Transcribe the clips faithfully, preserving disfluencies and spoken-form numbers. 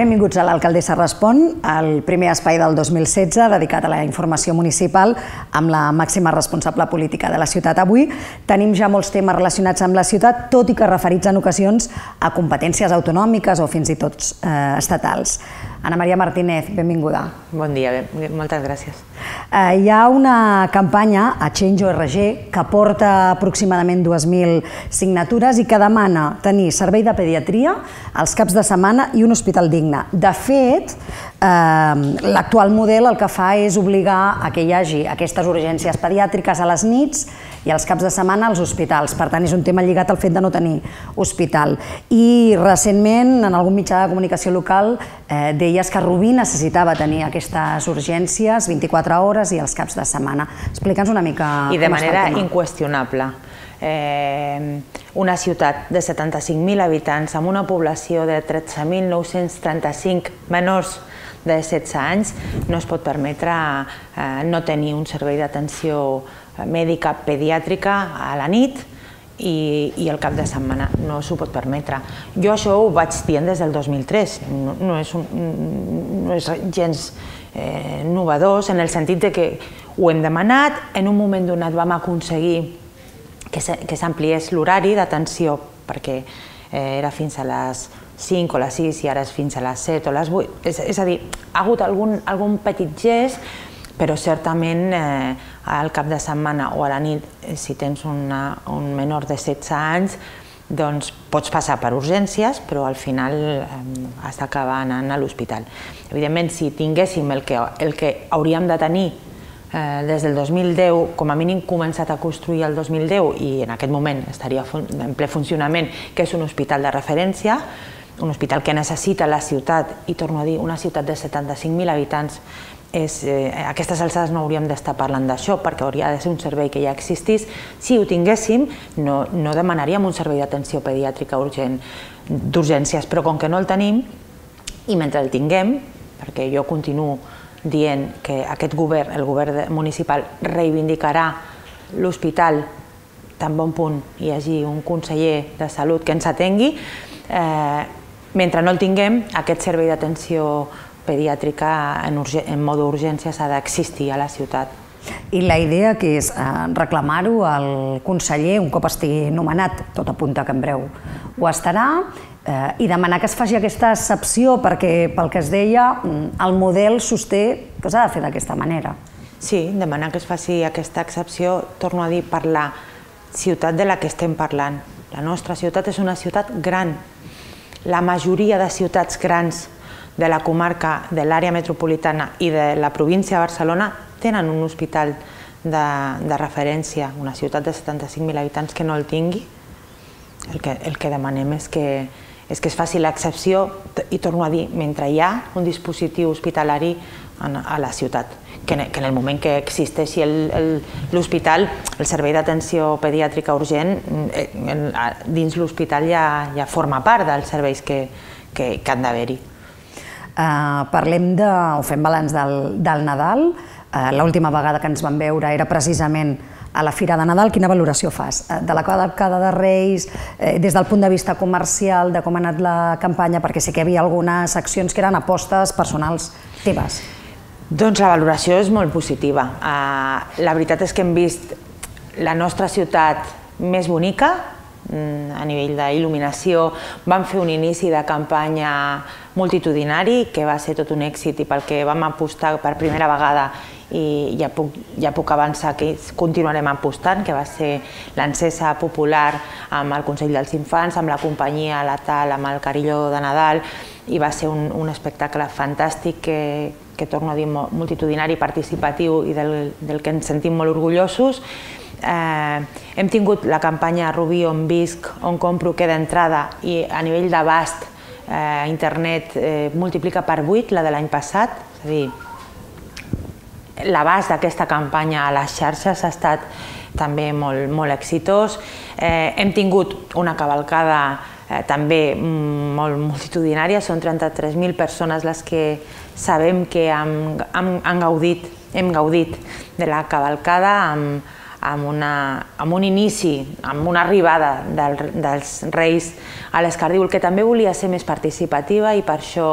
Benvinguts a l'Alcaldessa Respon, el primer espai del dos mil setze dedicat a la informació municipal amb la màxima responsable política de la ciutat. Avui tenim ja molts temes relacionats amb la ciutat, tot i que referits en ocasions a competències autonòmiques o fins i tot eh, estatals. Ana Maria Martínez, benvinguda. Bon dia, moltes gràcies. Eh, hi ha una campanya a Change O R G que porta aproximadament dues mil signatures i que demana tenir servei de pediatria als caps de setmana i un hospital digne. De fet, eh, l'actual model el que fa és obligar a que hi hagi aquestes urgències pediàtriques a les nits i als caps de setmana als hospitals. Per tant, és un tema lligat al fet de no tenir hospital. I recentment, en algun mitjà de comunicació local, eh, deies que Rubí necessitava tenir aquestes urgències vint-i-quatre hores i els caps de setmana. Explica'ns una mica com està el tema. I de manera inqüestionable. Eh, una ciutat de setanta-cinc mil habitants amb una població de tretze mil nou-cents trenta-cinc menors de setze anys no es pot permetre eh, no tenir un servei d'atenció mèdica pediàtrica a la nit i, i el cap de setmana. No s'ho pot permetre. Jo això ho vaig dient des del dos mil tres. No, no, és, un, no és gens eh, novedós en el sentit de que ho hem demanat, en un moment donat vam aconseguir que s'ampliés l'horari d'atenció perquè eh, era fins a les cinc o les sis i ara és fins a les set o les vuit. És, és a dir, ha hagut algun, algun petit gest, però certament eh, al cap de setmana o a la nit, si tens una, un menor de setze anys, doncs pots passar per urgències, però al final eh, has d'acabar anant a l'hospital. Evidentment, si tinguéssim el que, el que hauríem de tenir eh, des del dos mil deu, com a mínim començat a construir el dos mil deu i en aquest moment estaria en ple funcionament, que és un hospital de referència, un hospital que necessita la ciutat, i torno a dir, una ciutat de setanta-cinc mil habitants, és, eh, a aquestes alçades no hauríem d'estar parlant d'això perquè hauria de ser un servei que ja existís. Si ho tinguéssim, no, no demanaríem un servei d'atenció pediàtrica urgent d'urgències, però com que no el tenim, i mentre el tinguem, perquè jo continuo dient que aquest govern, el govern municipal, reivindicarà l'hospital tan bon punt hi hagi un conseller de salut que ens atengui, eh, mentre no el tinguem, aquest servei d'atenció pediàtrica en, en mode urgència s'ha d'existir a la ciutat. I la idea que és eh, reclamar-ho al conseller un cop estigui nomenat, tot apunta que en breu ho estarà, eh, i demanar que es faci aquesta excepció perquè, pel que es deia, el model sosté que s'ha de fer d'aquesta manera. Sí, demanar que es faci aquesta excepció, torno a dir, per la ciutat de la que estem parlant. La nostra ciutat és una ciutat gran. La majoria de ciutats grans de la comarca, de l'àrea metropolitana i de la província de Barcelona tenen un hospital de, de referència. Una ciutat de setanta-cinc mil habitants que no el tingui, el que, el que demanem és que, és que es faci l'excepció, i torno a dir, mentre hi ha un dispositiu hospitalari en, a la ciutat, que en, que en el moment que existeixi l'hospital, el, el servei d'atenció pediàtrica urgent, en, dins l'hospital ja, ja forma part dels serveis que, que, que han d'haver-hi. Uh, parlem de, o fem balanç del, del Nadal. Uh, l'última vegada que ens vam veure era precisament a la Fira de Nadal. Quina valoració fas uh, de la cavalcada de Reis, eh, des del punt de vista comercial, de com ha anat la campanya, perquè sé que hi havia algunes accions que eren apostes personals teves? Doncs la valoració és molt positiva. Uh, la veritat és que hem vist la nostra ciutat més bonica, a nivell d'il·luminació. Vam fer un inici de campanya multitudinari que va ser tot un èxit i pel que vam apostar per primera vegada, i ja puc, ja puc avançar que continuarem apostant, que va ser l'encesa popular amb el Consell dels Infants, amb la companyia La Tal, amb el Carilló de Nadal, i va ser un, un espectacle fantàstic que, que torno a dir, multitudinari, participatiu i del, del que ens sentim molt orgullosos. Eh, hem tingut la campanya Rubí on visc, on compro queda entrada, i a nivell d'abast eh, internet eh, multiplica per vuit la de l'any passat. És a dir, l'abast d'aquesta campanya a les xarxes ha estat també molt, molt exitós. Eh, hem tingut una cavalcada eh, també molt multitudinària, són trenta-tres mil persones les que sabem que han, han, han gaudit, hem gaudit de la cavalcada amb amb, una, amb un inici, amb una arribada del, dels Reis a l'Escardíol, que també volia ser més participativa, i per això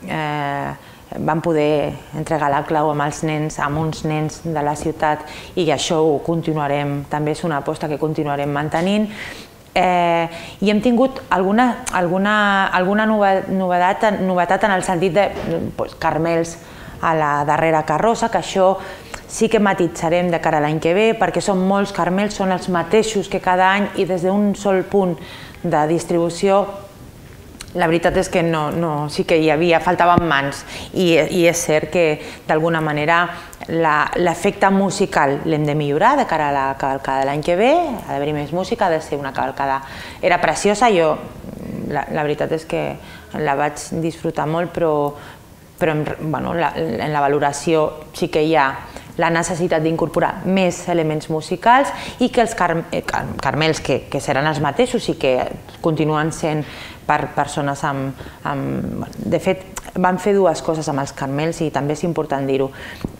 vam poder entregar la clau amb els nens, amb uns nens de la ciutat, i això ho continuarem, també és una aposta que continuarem mantenint. I hem tingut alguna novetat en el sentit de carmels a la darrera carrossa, que això sí que matitzarem de cara a l'any que ve, perquè són molts carmels, són els mateixos que cada any, i des d'un sol punt de distribució la veritat és que sí que hi havia, faltaven mans, i és cert que d'alguna manera l'efecte musical l'hem de millorar de cara a la cavalcada de l'any que ve, ha d'haver-hi més música, ha de ser una cavalcada... Era preciosa, jo la veritat és que la vaig disfrutar molt, però en la valoració sí que hi ha la necessitat d'incorporar més elements musicals, i que els carmels, que seran els mateixos i que continuen sent per persones amb... De fet, vam fer dues coses amb els carmels i també és important dir-ho.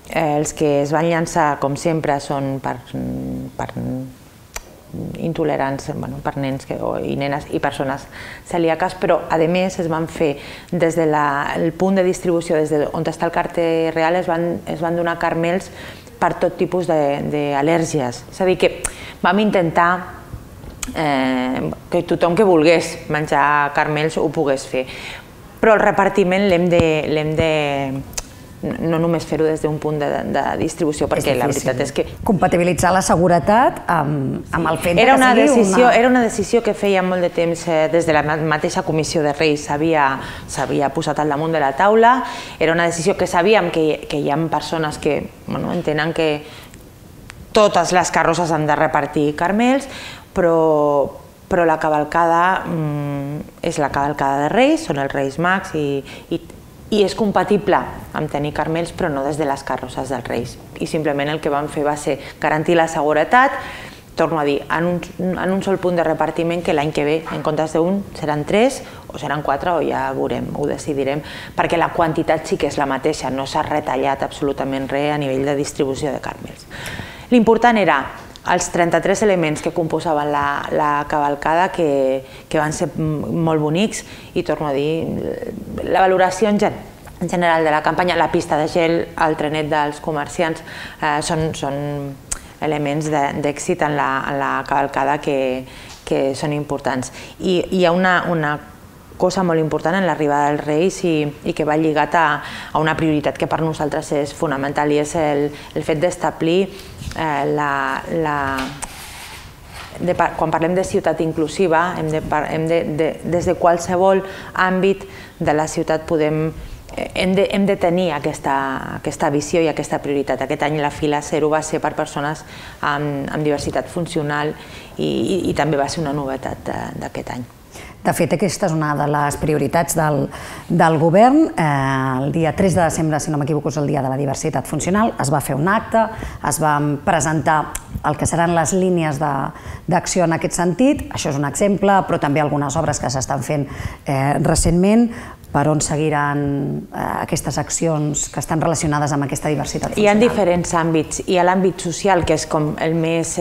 Els que es van llançar, com sempre, són per intolerants, per nens i nenes i persones celíaques, però a més es van fer des del punt de distribució, des d'on està el carter real, es van donar carmels per tot tipus d'al·lèrgies. És a dir, que vam intentar que tothom que volgués menjar carmels ho pogués fer, però el repartiment l'hem de... no només fer-ho des d'un punt de distribució, perquè la veritat és que... Compatibilitzar la seguretat amb el fet que sigui una... Era una decisió que feia molt de temps, des de la mateixa Comissió de Reis s'havia posat al damunt de la taula. Era una decisió que sabíem que hi ha persones que entenen que totes les carrosses han de repartir carmels, però la cavalcada és la cavalcada de Reis, són els Reis Mags, i és compatible amb tenir carmels, però no des de les carrosses dels Reis. I simplement el que vam fer va ser garantir la seguretat, torno a dir, en un sol punt de repartiment, que l'any que ve, en comptes d'un, seran tres o seran quatre, o ja veurem, ho decidirem, perquè la quantitat sí que és la mateixa, no s'ha retallat absolutament res a nivell de distribució de carmels. L'important era els trenta-tres elements que composaven la cavalcada, que van ser molt bonics, i torno a dir, la valoració en general de la campanya, la pista de gel, el trenet dels comerciants, són elements d'èxit en la cavalcada que són importants. I hi ha una cosa molt important en l'arribada dels Reis i que va lligat a una prioritat que per nosaltres és fonamental, i és el fet d'establir la... Quan parlem de ciutat inclusiva, des de qualsevol àmbit de la ciutat hem de tenir aquesta visió i aquesta prioritat. Aquest any la fila zero va ser per persones amb diversitat funcional i també va ser una novetat d'aquest any. De fet, aquesta és una de les prioritats del govern. El dia tres de desembre, si no m'equivoco, és el dia de la diversitat funcional. Es va fer un acte, es van presentar el que seran les línies d'acció en aquest sentit. Això és un exemple, però també algunes obres que s'estan fent recentment. Per on seguiran aquestes accions que estan relacionades amb aquesta diversitat funcional? Hi ha diferents àmbits. Hi ha l'àmbit social, que és com el més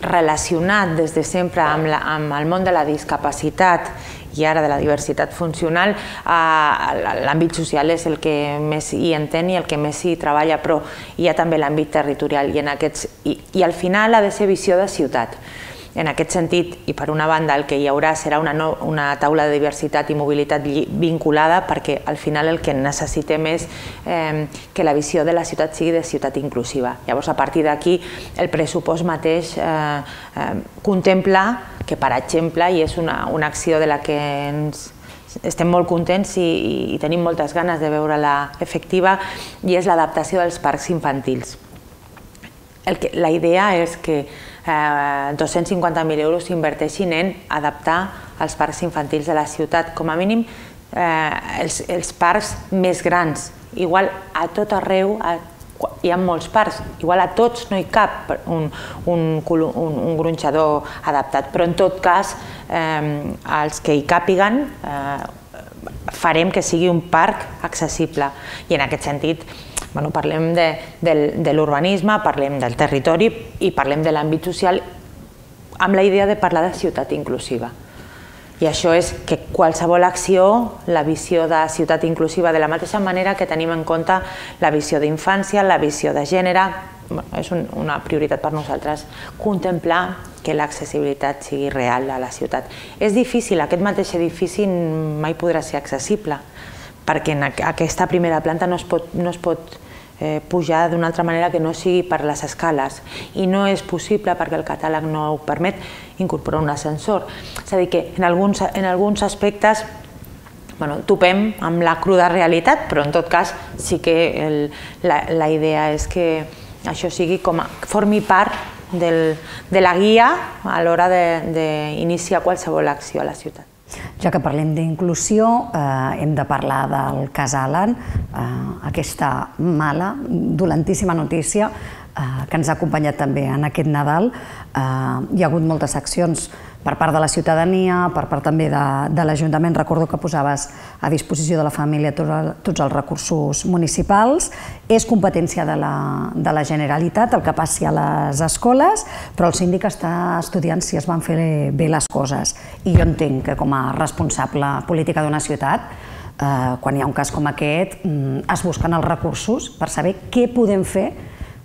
relacionat des de sempre amb el món de la discapacitat i ara de la diversitat funcional. L'àmbit social és el que més hi entén i el que més hi treballa, però hi ha també l'àmbit territorial, i al final ha de ser visió de ciutat. En aquest sentit, i per una banda, el que hi haurà serà una taula de diversitat i mobilitat vinculada, perquè al final el que necessitem és que la visió de la ciutat sigui de ciutat inclusiva. Llavors, a partir d'aquí, el pressupost mateix contempla que, per exemple, i és una acció de la que ens estem molt contents i tenim moltes ganes de veure-la efectiva, i és l'adaptació dels parcs infantils. La idea és que dos-cents cinquanta mil euros s'inverteixin en adaptar els parcs infantils de la ciutat, com a mínim els parcs més grans. Igual a tot arreu hi ha molts parcs, igual a tots no hi cap un gronxador adaptat, però en tot cas els que hi càpiguen farem que sigui un parc accessible, i en aquest sentit parlem de l'urbanisme, parlem del territori i parlem de l'àmbit social amb la idea de parlar de ciutat inclusiva. I això és que qualsevol acció, la visió de ciutat inclusiva, de la mateixa manera que tenim en compte la visió d'infància, la visió de gènere, és una prioritat per nosaltres contemplar que l'accessibilitat sigui real a la ciutat. És difícil, aquest mateix edifici mai podrà ser accessible, perquè en aquesta primera planta no es pot, no es pot eh, pujar d'una altra manera que no sigui per les escales, i no és possible perquè el catàleg no ho permet incorporar un ascensor. És a dir, que en alguns, en alguns aspectes bueno, topem amb la cruda realitat, però en tot cas sí que el, la, la idea és que això sigui com a, formi part del, de la guia a l'hora d'iniciar qualsevol acció a la ciutat. Ja que parlem d'inclusió, eh, hem de parlar del cas Alan, eh, aquesta mala, dolentíssima notícia eh, que ens ha acompanyat també en aquest Nadal. Eh, hi ha hagut moltes accions per part de la ciutadania, per part també de, de l'Ajuntament. Recordo que posaves a disposició de la família tot el, tots els recursos municipals. És competència de la, de la Generalitat el que passi a les escoles, però el síndic està estudiant si es van fer bé les coses. I jo entenc que com a responsable política d'una ciutat, eh, quan hi ha un cas com aquest, es busquen els recursos per saber què podem fer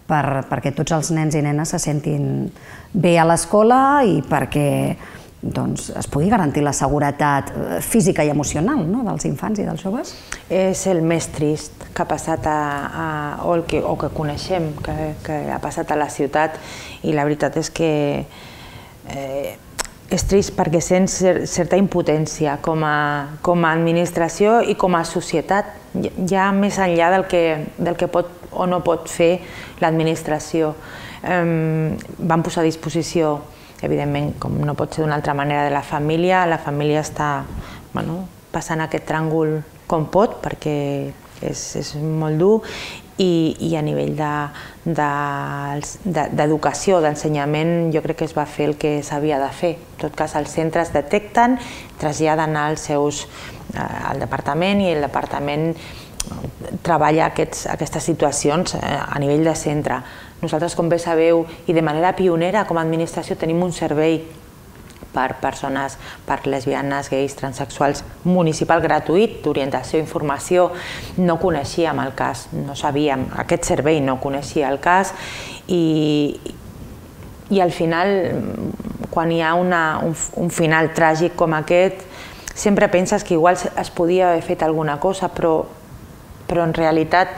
per, perquè tots els nens i nenes se sentin bé a l'escola i perquè doncs, es pugui garantir la seguretat física i emocional, no?, dels infants i dels joves. És el més trist que ha passat a, a, o, el que, o que coneixem que, que ha passat a la ciutat, i la veritat és que eh, és trist perquè sents certa impotència com a, com a administració i com a societat, ja més enllà del que, del que pot o no pot fer l'administració. Um, van posar a disposició, evidentment, com no pot ser d'una altra manera, de la família. La família està bueno, passant aquest tràngol com pot, perquè és, és molt dur, i, i a nivell d'educació, de, de, d'ensenyament, jo crec que es va fer el que s'havia de fer. En tot cas, els centres detecten, traslladen als seus, al departament, i el departament treballa aquests, aquestes situacions a nivell de centre. Nosaltres, com bé sabeu, i de manera pionera com a administració, tenim un servei per persones, per lesbianes, gais, transexuals, municipal gratuït, d'orientació i informació. No coneixíem el cas, no sabíem, aquest servei no coneixia el cas, i, i al final, quan hi ha una, un, un final tràgic com aquest, sempre penses que igual es podia haver fet alguna cosa, però però en realitat,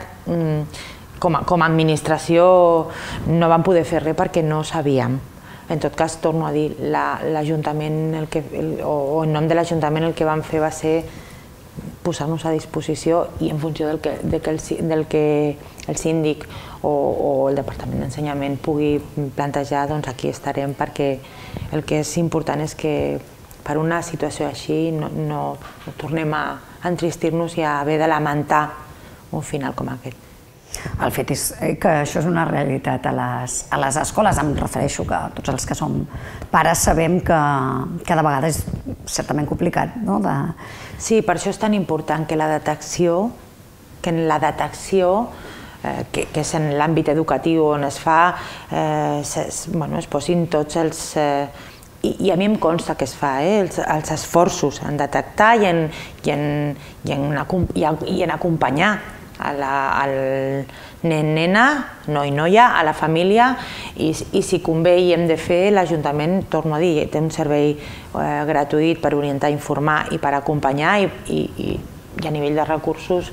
com a, com a administració, no vam poder fer res perquè no sabíem. En tot cas, torno a dir, l'Ajuntament, el que, el, o en nom de l'Ajuntament, el que vam fer va ser posar-nos a disposició, i en funció del que, de que, el, del que el síndic o, o el Departament d'Ensenyament pugui plantejar, doncs aquí estarem, perquè el que és important és que per una situació així no, no, no tornem a entristir-nos i a haver de lamentar un final com aquest. El fet és que això és una realitat a les, a les escoles. Em refereixo que tots els que som pares sabem que cada vegada és certament complicat, no? De... Sí, per això és tan important que la detecció, que en la detecció, eh, que, que és en l'àmbit educatiu on es fa, eh, es, bueno, es posin tots els... Eh, i, I a mi em consta que es fa, eh, els, els esforços en detectar i en, i en, i en, i en, i en acompanyar a la, al nen, nena, noi, noia, a la família, i, i si convé i hem de fer, l'Ajuntament, torno a dir, té un servei eh, gratuït per orientar, informar i per acompanyar, i, i, i a nivell de recursos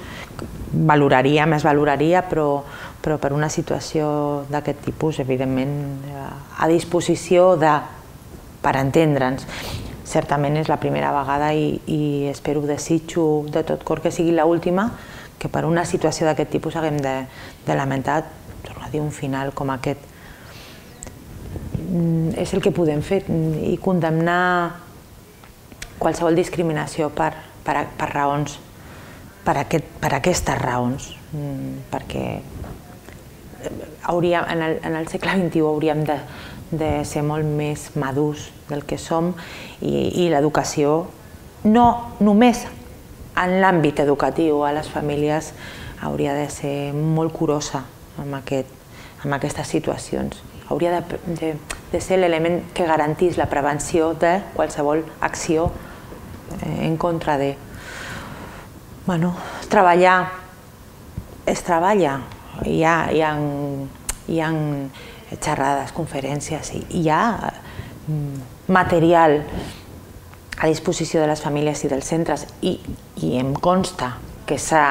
valoraria, més valoraria, però, però per una situació d'aquest tipus, evidentment, a disposició de, per entendre'ns. Certament és la primera vegada i, i espero, desitjo de tot cor que sigui l'última, que per una situació d'aquest tipus haguem de, de lamentar, torno a dir, un final com aquest. És el que podem fer, i condemnar qualsevol discriminació per, per, per raons, per, aquest, per aquestes raons, perquè hauríem, en, el, en el segle vint-i-u hauríem de, de ser molt més madurs del que som, i, i l'educació no només en l'àmbit educatiu a les famílies hauria de ser molt curosa amb, aquest, amb aquestes situacions. Hauria de, de, de ser l'element que garantís la prevenció de qualsevol acció en contra de... Bueno, treballar es treballa. Hi ha, hi ha, hi ha xerrades, conferències, hi ha material a disposició de les famílies i dels centres i, i em consta que s'ha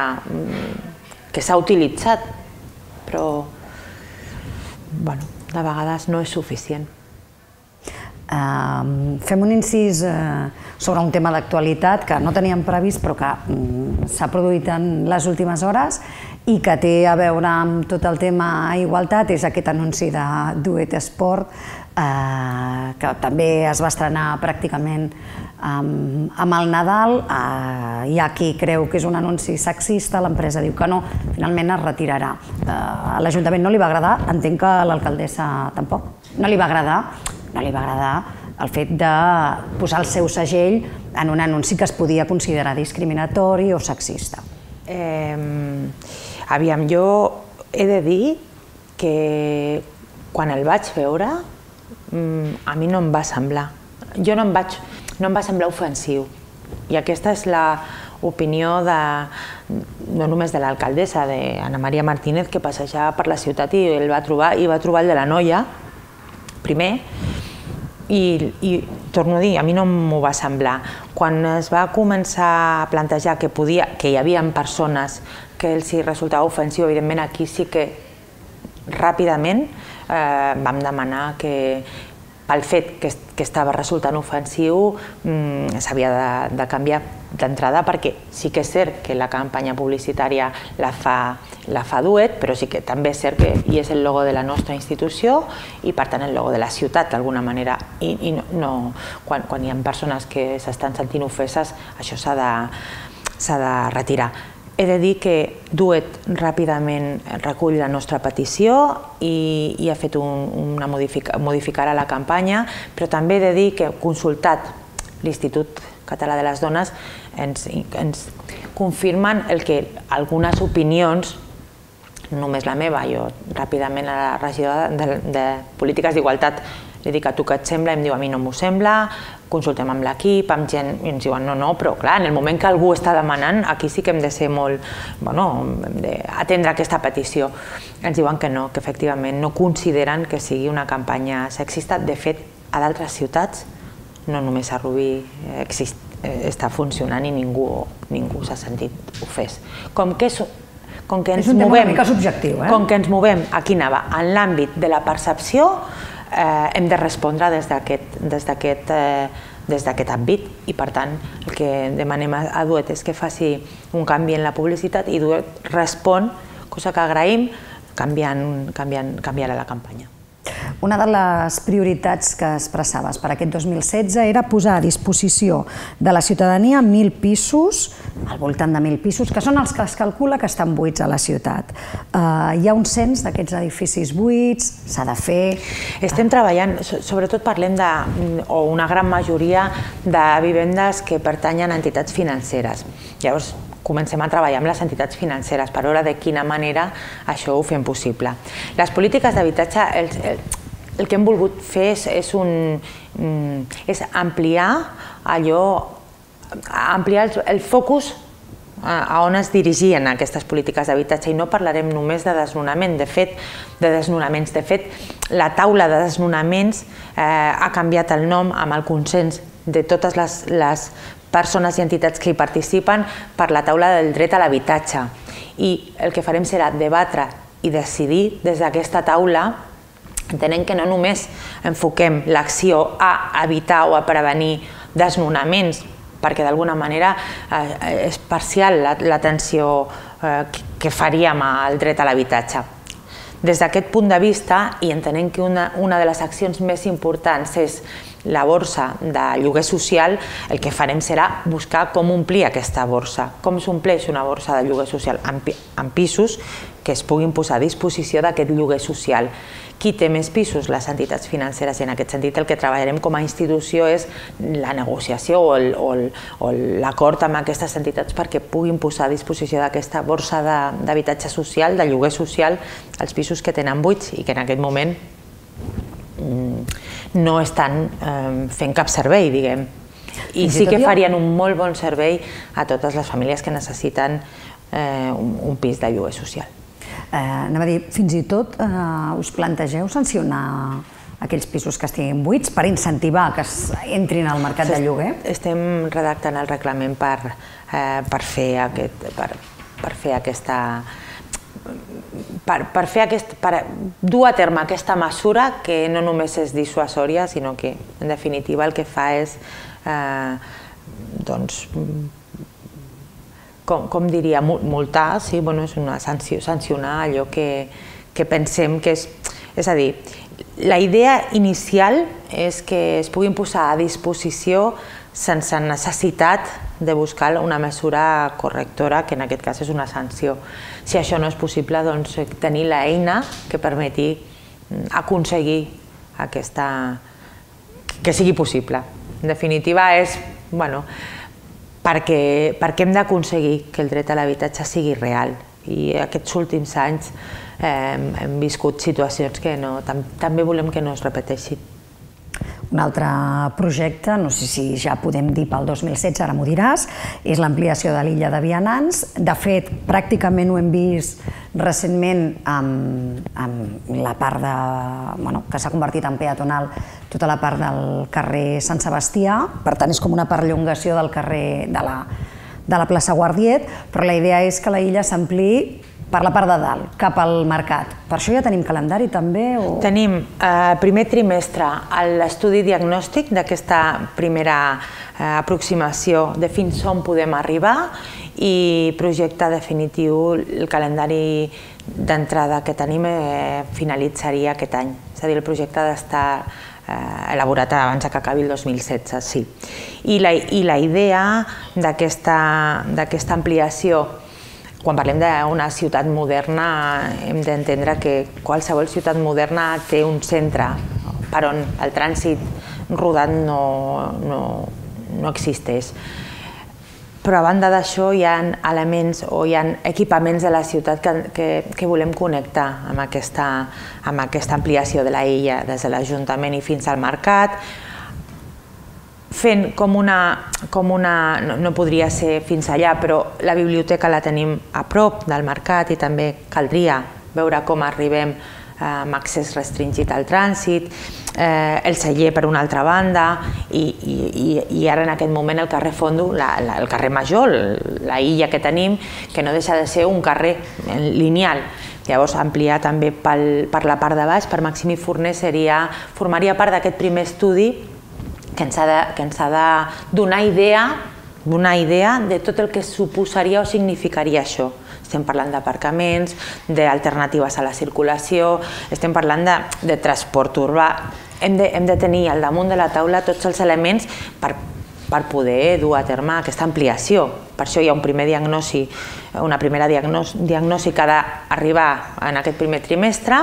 que s'ha utilitzat, però bueno, de vegades no és suficient. Uh, fem un incís uh, sobre un tema d'actualitat que no teníem previst però que um, s'ha produït en les últimes hores i que té a veure amb tot el tema igualtat, és aquest anunci de Duet Esport uh, que també es va estrenar pràcticament um, amb el Nadal. Uh, hi ha qui creu que és un anunci sexista, l'empresa diu que no, finalment es retirarà. Uh, a l'Ajuntament no li va agradar, entenc que a l'alcaldessa tampoc. No li va agradar no li va agradar el fet de posar el seu segell en un anunci que es podia considerar discriminatori o sexista. Eh, aviam, jo he de dir que quan el vaig veure a mi no em va semblar. Jo no em vaig, no em va semblar ofensiu. I aquesta és l'opinió de, no només de l'alcaldessa, d'Anna Maria Martínez, que passejava per la ciutat i el va trobar, i va trobar el de la noia, primer, i, i torno a dir, a mi no m'ho va semblar. Quan es va començar a plantejar que, podia, que hi havia persones que els resultava ofensiu, evidentment aquí sí que ràpidament eh, vam demanar que pel fet que, que estava resultant ofensiu mmm, s'havia de, de canviar d'entrada, perquè sí que és cert que la campanya publicitària la fa, la fa Duet, però sí que també és cert que hi és el logo de la nostra institució i per tant el logo de la ciutat d'alguna manera, i, i no, no, quan, quan hi ha persones que s'estan sentint ofeses això s'ha de, s'ha de retirar. He de dir que Duet ràpidament recull la nostra petició i, i ha fet un, una modific, modificarà la campanya, però també he de dir que consultat l'Institut Català de les Dones ens, ens confirmen el que algunes opinions, no només la meva, jo ràpidament a la regidora de, de Polítiques d'Igualtat li dic a tu què et sembla, i em diu a mi no m'ho sembla, consultem amb l'equip, amb gent, i ens diuen no, no, però clar, en el moment que algú està demanant, aquí sí que hem de ser molt, bueno, hem d'atendre aquesta petició. Ens diuen que no, que efectivament no consideren que sigui una campanya sexista. De fet, a d'altres ciutats, no només a Rubí està funcionant i ningú, ningú s'ha sentit ofès. Com que és com que ens és un tema movem, una mica subjectiu, eh? Com que ens movem, aquí anava, en l'àmbit de la percepció, eh, hem de respondre des d'aquest des d'aquest eh, des d'aquest àmbit, i per tant el que demanem a Duet és que faci un canvi en la publicitat, i Duet respon, cosa que agraïm, canviant, canviant, canviant la campanya. Una de les prioritats que expressaves per aquest dos mil setze era posar a disposició de la ciutadania mil pisos, al voltant de mil pisos, que són els que es calcula que estan buits a la ciutat. Uh, hi ha un cens d'aquests edificis buits, s'ha de fer... Estem treballant, sobretot parlem de, o una gran majoria de vivendes que pertanyen a entitats financeres. Llavors, comencem a treballar amb les entitats financeres per veure de quina manera això ho fem possible. Les polítiques d'habitatge, el, el, el que hem volgut fer és, és, un, és ampliar allò, ampliar el, el focus a on es dirigien aquestes polítiques d'habitatge, i no parlarem només de desnonament, de fet, de desnonaments. De fet, la taula de desnonaments eh, ha canviat el nom amb el consens de totes les, les persones i entitats que hi participen per la taula del dret a l'habitatge. I el que farem serà debatre i decidir des d'aquesta taula, entenent que no només enfoquem l'acció a evitar o a prevenir desnonaments, perquè d'alguna manera eh, és parcial l'atenció eh, que faríem al dret a l'habitatge. Des d'aquest punt de vista, i entenent que una, una de les accions més importants és la borsa de lloguer social, el que farem serà buscar com omplir aquesta borsa. Com s'ompleix una borsa de lloguer social? Amb pisos que es puguin posar a disposició d'aquest lloguer social. Qui té més pisos? Les entitats financeres, i en aquest sentit el que treballarem com a institució és la negociació o l'acord amb aquestes entitats perquè puguin posar a disposició d'aquesta borsa d'habitatge social, de lloguer social, els pisos que tenen buits i que en aquest moment no estan fent cap servei, diguem. i sí que farien un molt bon servei a totes les famílies que necessiten un pis de lloguer social. Anava a dir, fins i tot us plantegeu sancionar aquells pisos que estiguin buits per incentivar que entrin al mercat de lloguer? Estem redactant el reglament per fer aquesta... per fer aquest, per dur a terme aquesta mesura que no només és dissuasòria, sinó que en definitiva el que fa és, doncs, com diria, multar, sí, és una sanció, sancionar allò que pensem que és... És a dir, la idea inicial és que es puguin posar a disposició sense necessitat de buscar una mesura correctora, que en aquest cas és una sanció. Si això no és possible, doncs tenir l'eina que permeti aconseguir aquesta... que sigui possible. En definitiva, és, bueno, perquè hem d'aconseguir que el dret a l'habitatge sigui real. I aquests últims anys hem viscut situacions que també volem que no es repeteixin. Un altre projecte, no sé si ja podem dir pel dos mil setze, ara m'ho diràs, és l'ampliació de l'illa de Vianants. De fet, pràcticament ho hem vist recentment amb la part de... que s'ha convertit en peatonal, tota la part del carrer Sant Sebastià. Per tant, és com una perllongació del carrer de la plaça Guardiet, però la idea és que la illa s'ampliï per la part de dalt, cap al mercat. Per això ja tenim calendari també? Tenim primer trimestre l'estudi diagnòstic d'aquesta primera aproximació de fins on podem arribar i projecte definitiu, el calendari d'entrada que tenim finalitzaria aquest any. És a dir, el projecte ha d'estar elaborat abans que acabi el dos mil setze, sí. I la idea d'aquesta ampliació, quan parlem d'una ciutat moderna, hem d'entendre que qualsevol ciutat moderna té un centre per on el trànsit rodat no existeix. Però a banda d'això hi ha elements o hi ha equipaments de la ciutat que volem connectar amb aquesta ampliació de la illa, des de l'Ajuntament i fins al mercat, fent com una... no podria ser fins allà, però la biblioteca la tenim a prop del mercat i també caldria veure com arribem amb accés restringit al trànsit, el celler per una altra banda i ara en aquest moment el carrer Fondo, el carrer Major, la illa que tenim, que no deixa de ser un carrer lineal. Llavors, ampliar també per la part de baix, per Maximí Forner, formaria part d'aquest primer estudi que ens ha de donar idea de tot el que suposaria o significaria això. Estem parlant d'aparcaments, d'alternatives a la circulació, estem parlant de transport urbà. Hem de tenir al damunt de la taula tots els elements per poder dur a terme aquesta ampliació. Per això hi ha un primer diagnosi, una primera diagnosi que ha d'arribar en aquest primer trimestre,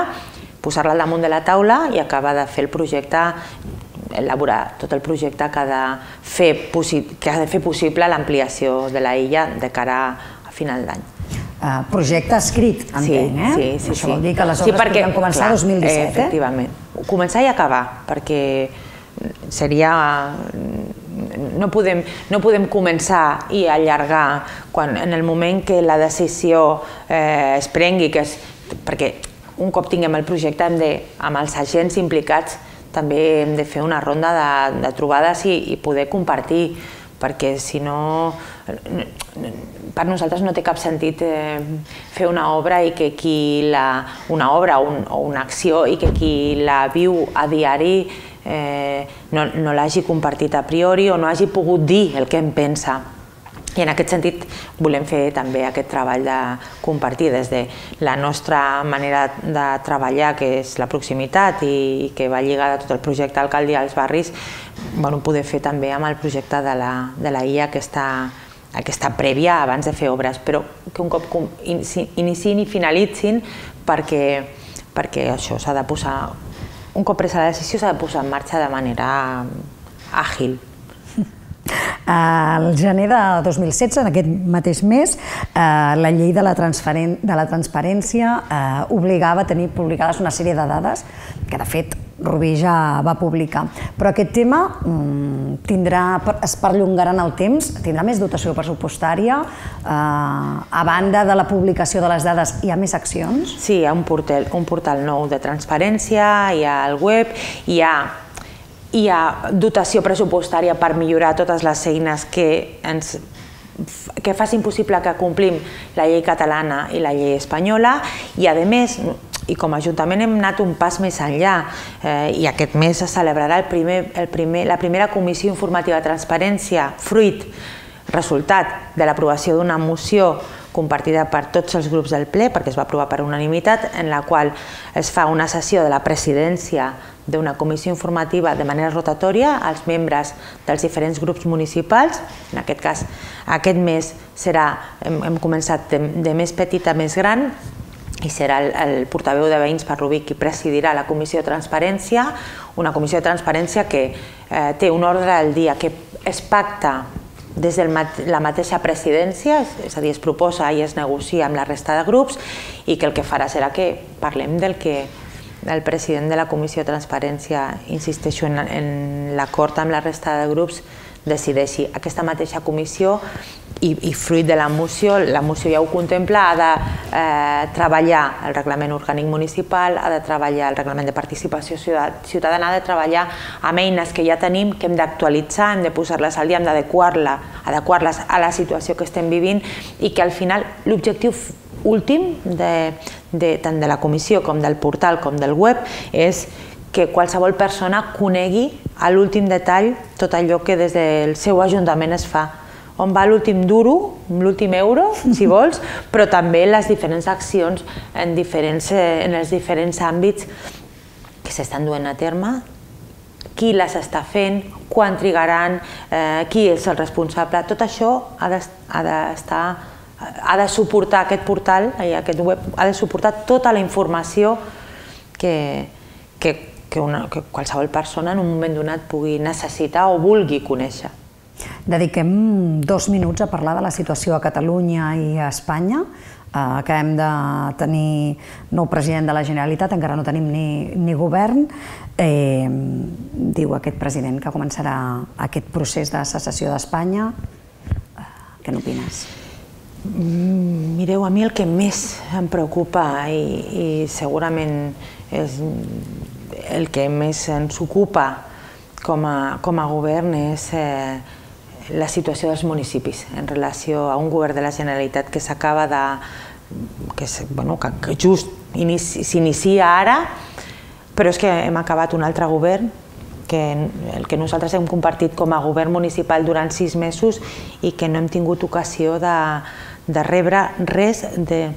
posar-la al damunt de la taula i acabar de fer el projecte, elaborar tot el projecte que ha de fer possible l'ampliació de la illa de cara a final d'any. Projecte escrit, entenc, eh? Sí, sí, sí. Això vol dir que les obres podran començar el dos mil disset, eh? Efectivament. Començar i acabar, perquè seria... No podem començar i allargar en el moment que la decisió es prengui, perquè un cop tinguem el projecte amb els agents implicats també hem de fer una ronda de trobades i poder compartir, perquè si no, per nosaltres no té cap sentit fer una obra i que qui la... una obra o una acció i que qui la viu a diari no l'hagi compartit a priori o no hagi pogut dir el que em pensa. I en aquest sentit volem fer també aquest treball de compartir des de la nostra manera de treballar, que és la proximitat i que va lligada a tot el projecte Alcaldia als barris, poder fer també amb el projecte de la I A aquesta prèvia abans de fer obres, però que un cop iniciïn i finalitzin perquè això s'ha de posar, un cop presa la decisió s'ha de posar en marxa de manera àgil. Al gener de dos mil setze, en aquest mateix mes, la llei de la transparència obligava a tenir publicades una sèrie de dades que, de fet, Rubí ja va publicar. Però aquest tema tindrà, es perllongarà en el temps, tindrà més dotació pressupostària, a banda de la publicació de les dades hi ha més accions? Sí, hi ha un portal nou de transparència, hi ha el web, hi ha hi ha dotació pressupostària per millorar totes les eines que ens que facin possible que complim la llei catalana i la llei espanyola i, a més, i com a Ajuntament hem anat un pas més enllà i aquest mes es celebrarà la primera comissió informativa de transparència, fruit, resultat de l'aprovació d'una moció compartida per tots els grups del ple, perquè es va aprovar per unanimitat, en la qual es fa una sessió de la presidència d'una comissió informativa de manera rotatòria als membres dels diferents grups municipals. En aquest cas, aquest mes serà, hem començat de més petit a més gran, i serà el portaveu de Veïns per Rubí qui presidirà la comissió de transparència, una comissió de transparència que té un ordre al dia, que es pacta des de la mateixa presidència, és a dir, es proposa i es negocia amb la resta de grups i que el que farà serà que parlem del que el president de la Comissió de Transparència, insisteixo en l'acord amb la resta de grups, decideixi. Aquesta mateixa comissió i fruit de la moció, la moció ja ho contempla, ha de treballar el reglament orgànic municipal, ha de treballar el reglament de participació ciutadana, ha de treballar amb eines que ja tenim, que hem d'actualitzar, hem de posar-les al dia, hem d'adequar-les a la situació que estem vivint i que al final l'objectiu últim tant de la comissió com del portal com del web és que qualsevol persona conegui a l'últim detall tot allò que des del seu ajuntament es fa, on va l'últim duro, l'últim euro, si vols, però també les diferents accions en els diferents àmbits que s'estan duent a terme, qui les està fent, quan trigaran, qui és el responsable. Tot això ha d'estar, ha de suportar aquest portal, aquest web, ha de suportar tota la informació que qualsevol persona en un moment donat pugui necessitar o vulgui conèixer. Dediquem dos minuts a parlar de la situació a Catalunya i a Espanya. Acabem de tenir nou president de la Generalitat, encara no tenim ni govern. Diu aquest president que començarà aquest procés de secessió d'Espanya. Què n'opines? Mireu, a mi el que més em preocupa i segurament és el que més ens ocupa com a govern és la situació dels municipis en relació a un govern de la Generalitat que s'acaba de... que just s'inicia ara, però és que hem acabat un altre govern, el que nosaltres hem compartit com a govern municipal durant sis mesos i que no hem tingut ocasió de rebre res, de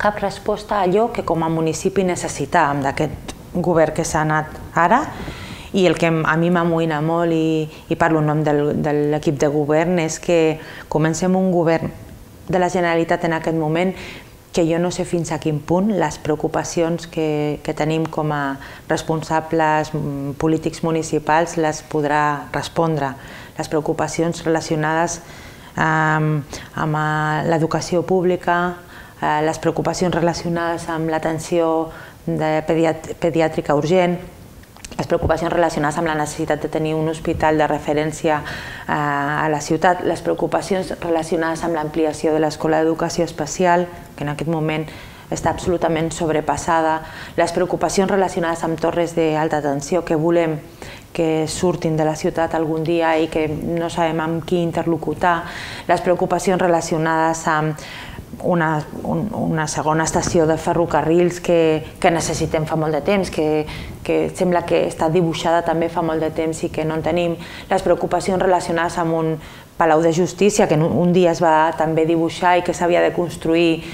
cap resposta a allò que com a municipi necessitàvem d'aquest govern que s'ha anat ara. I el que a mi m'amoïna molt, i parlo en nom de l'equip de govern, és que comencem un govern de la Generalitat en aquest moment que jo no sé fins a quin punt les preocupacions que tenim com a responsables polítics municipals les podrà respondre. Les preocupacions relacionades amb l'educació pública, les preocupacions relacionades amb l'atenció pediàtrica urgent, les preocupacions relacionades amb la necessitat de tenir un hospital de referència a la ciutat, les preocupacions relacionades amb l'ampliació de l'Escola d'Educació Especial, que en aquest moment està absolutament sobrepassada, les preocupacions relacionades amb torres d'alta tensió que volem que surtin de la ciutat algun dia i que no sabem amb qui interlocutar, les preocupacions relacionades amb una segona estació de ferrocarrils que necessitem fa molt de temps, que sembla que està dibuixada també fa molt de temps i que no en tenim, les preocupacions relacionades amb un palau de justícia que un dia es va també dibuixar i que s'havia de construir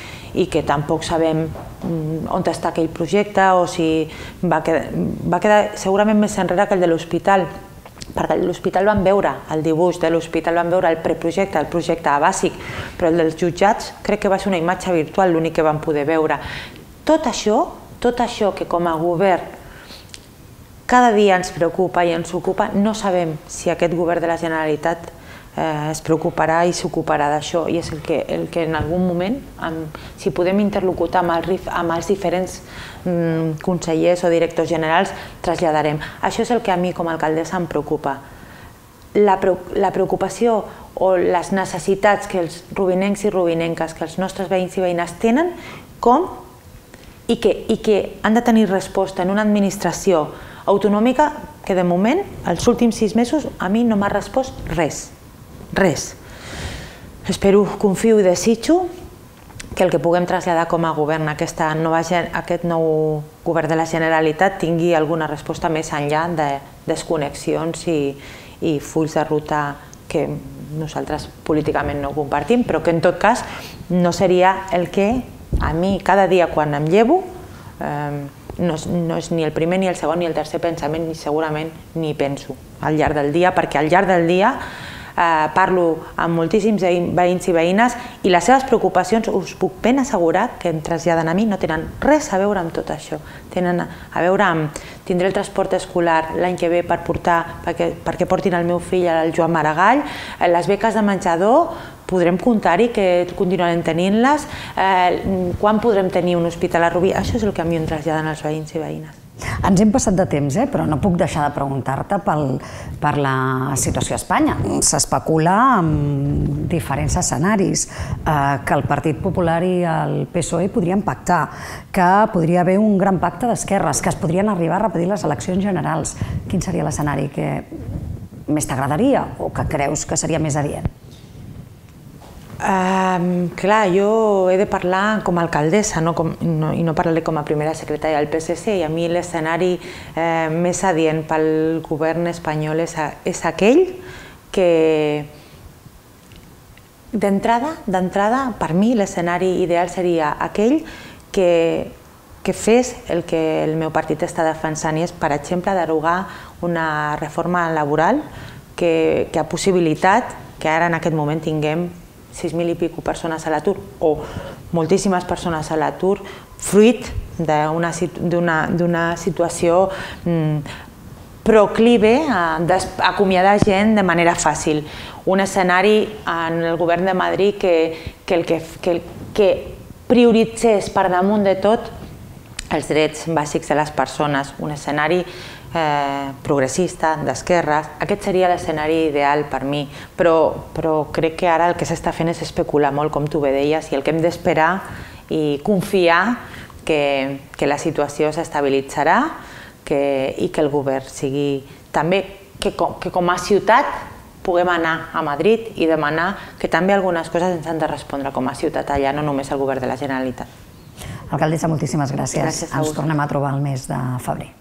i que tampoc sabem on està aquell projecte o si va quedar segurament més enrere que el de l'hospital, perquè l'hospital van veure el dibuix de l'hospital, van veure el preprojecte, el projecte bàsic, però el dels jutjats crec que va ser una imatge virtual l'únic que van poder veure. Tot això, tot això que com a govern cada dia ens preocupa i ens ocupa, no sabem si aquest govern de la Generalitat es preocuparà i s'ocuparà d'això, i és el que, el que en algun moment, si podem interlocutar amb els, amb els diferents mm, consellers o directors generals, traslladarem. Això és el que a mi com a alcaldessa em preocupa. La, la preocupació o les necessitats que els rubinencs i rubinenques, que els nostres veïns i veïnes tenen, com i que, i que han de tenir resposta en una administració autonòmica que de moment, els últims sis mesos, a mi no m'ha respost res. Res. Espero, confio i desitjo que el que puguem traslladar com a govern, aquesta nova, aquest nou govern de la Generalitat, tingui alguna resposta més enllà de desconnexions i, i fulls de ruta que nosaltres políticament no compartim, però que en tot cas no seria el que a mi cada dia quan em llevo eh, no, no és ni el primer, ni el segon, ni el tercer pensament, ni segurament ni penso al llarg del dia, perquè al llarg del dia eh, parlo amb moltíssims veïns i veïnes i les seves preocupacions, us puc ben assegurar que em traslladen a mi, no tenen res a veure amb tot això. Tenen a veure amb tindré el transport escolar l'any que ve per portar, perquè, perquè portin el meu fill al Joan Maragall, les beques de menjador, podrem comptar-hi que continuarem tenint-les, eh, quan podrem tenir un hospital a Rubí, això és el que a mi em traslladen els veïns i veïnes. Ens hem passat de temps, eh? Però no puc deixar de preguntar-te per la situació a Espanya. S'especula amb diferents escenaris, que el Partit Popular i el P S O E podrien pactar, que podria haver un gran pacte d'esquerres, que es podrien arribar a repetir les eleccions generals. Quin seria l'escenari que més t'agradaria o que creus que seria més adient? Um, clar, jo he de parlar com a alcaldessa no com, no, i no parlaré com a primera secretària del P S C, i a mi l'escenari eh, més adient pel govern espanyol és, a, és aquell que d'entrada, d'entrada, per mi l'escenari ideal seria aquell que, que fes el que el meu partit està defensant, i és, per exemple, derogar una reforma laboral que, que ha possibilitat que ara en aquest moment tinguem sis mil i pico persones a l'atur o moltíssimes persones a l'atur fruit d'una situació proclive a acomiadar gent de manera fàcil. Un escenari en el govern de Madrid que, que, el que, que, que prioritzés per damunt de tot els drets bàsics de les persones, un escenari Eh, progressista, d'esquerres. Aquest seria l'escenari ideal per mi, però, però crec que ara el que s'està fent és especular molt, com tu bé deies, i el que hem d'esperar i confiar que, que la situació s'estabilitzarà que, i que el govern sigui també, que, que com a ciutat puguem anar a Madrid i demanar que també algunes coses ens han de respondre com a ciutat allà, no només el govern de la Generalitat. Alcaldessa, moltíssimes gràcies. Gràcies a Ens tornem a trobar el mes de febrer.